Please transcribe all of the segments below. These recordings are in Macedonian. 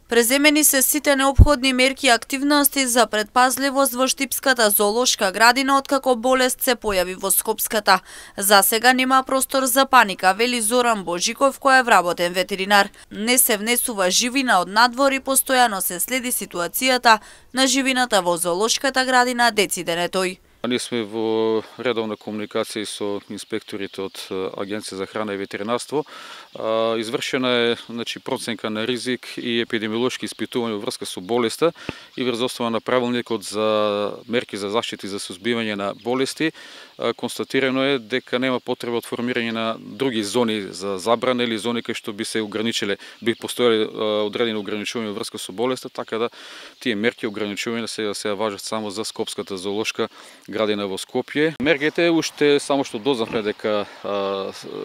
Преземени се сите неопходни мерки и активности за предпазливост во Штипската зоолошка градина откако болест се појави во Скопската. За сега нема простор за паника, вели Зоран Божиков, кој е вработен ветеринар. Не се внесува живина од надвор и постојано се следи ситуацијата на живината во зоолошката градина Дециденетој. Ние сме во редовна комуникација со инспекторите од Агенција за храна и ветеринарство. Извршена е проценка на ризик и епидемиолошки испитувања во врска со болеста и врз основа на правилникот за мерки за заштита и за сузбивање на болести. Констатирано е дека нема потреба од формирање на други зони за забрана или зони кај што би се ограничиле, би постоеле одредени ограничувања во врска со болеста, така да тие мерки ограничувања се важат само за Скопската зоолошка градина во Скопје. Мерките уште само што дознавме дека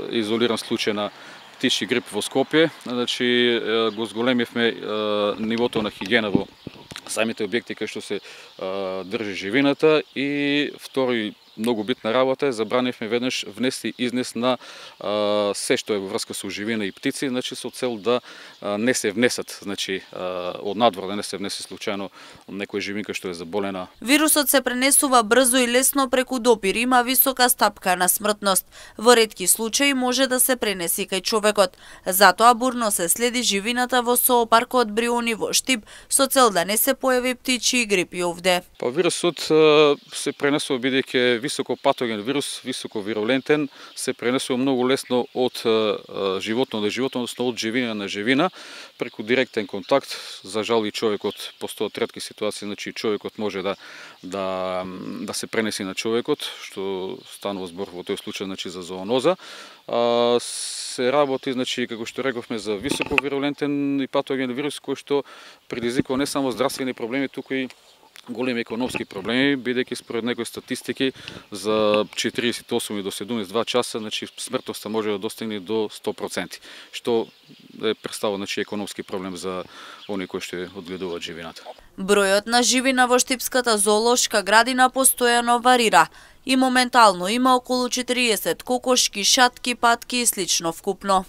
изолиран случај на птичји грип во Скопје, значи го зголемивме нивото на хигиена во самите објекти кај што се држи живината и втори многу битна работа е забранивме веднаш внес и изнес на се што е во врска со живина и птици, значи со цел да не се внесат, значи од надвор да не се внесе случајно некоја живинка што е заболена. Вирусот се пренесува брзо и лесно преку допир, има висока стапка на смртност. Во ретки случаи може да се пренеси кај човекот. Затоа бурно се следи живината во зоопаркот Бриони во Штип со цел да не се појави птичји грипи овде. Па вирусот се пренесува бидејќи високо патоген вирус, високо вирулентен, се пренесува многу лесно од животно до животно, односно од живина на живина, преку директен контакт. За жал и човекот постојат ретки ситуации, значи човекот може да се пренеси на човекот, што станува збор во тој случај значи за зооноза. Се работи, значи како што рековме, за високо вирулентен и патоген вирус кој што предизвикува не само здравствени проблеми, туку и големи економски проблеми, бидејќи според некои статистики за 48 до 72 часа, значи смртноста може да достигне до 100%, што е представува значи економски проблем за оние кои што одгледуваат живината. Бројот на живина во Штипската зоолошка градина постојано варира и моментално има околу 40 кокошки, шатки, патки и слично вкупно.